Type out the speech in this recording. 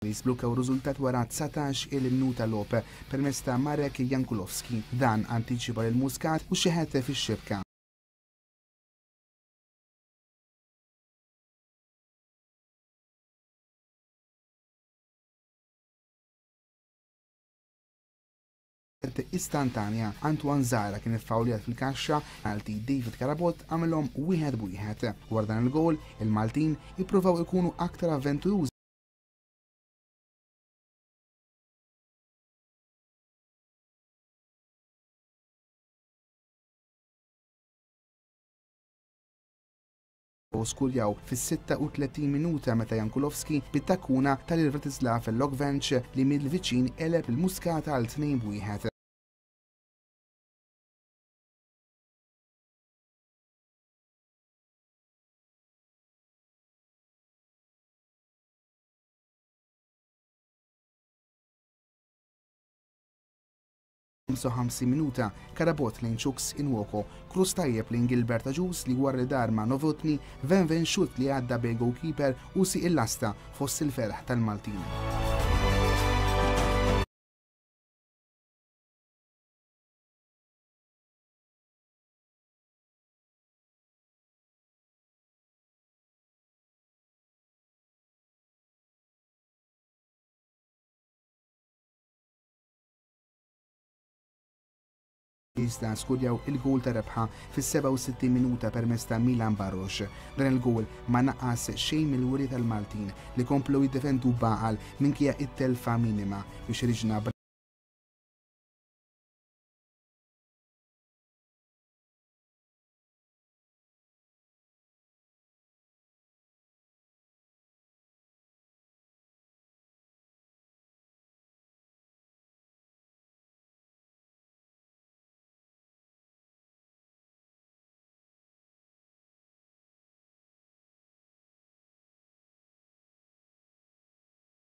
Li sblukkaw riżultat wara 19-il minuta logħob permezz ta' Marek Jankulovski. Dan antiċipa lil Muscat u xeħet fix-xibka. Istantanja. Antoine Zara kien iffawljat fil-kaxxa, penalty David Carabott għamilhom wieħed b'wieħed. Wara dan il-gowl, il-Maltin ippruvaw ikunu aktar avventurużi u skurjaw fis-36 minuta meta Jankulovski bit-takkuna ta lil Vratislav Lokvenc li mill-viċin għeleb lil Muscat għal 2-1. 55 minuta, Carabott lejn Chuks Inwoko, cross tajjeb lejn Gilbert Agius li wara li dar ma' Novotny, venven xutt li għadda bejn goalkeeper u sieq il-lasta fost il-ferħ tal-Maltin. Iżda skurjaw il-gowl ta' rebħa fis-67 minuta permezz ta' Milan Baros. Dan il-gowl ma naqqas xejn mill-wiri tal-Maltin li komplew jiddefendu b'għaqal minkejja t-telfa minima biex riġna.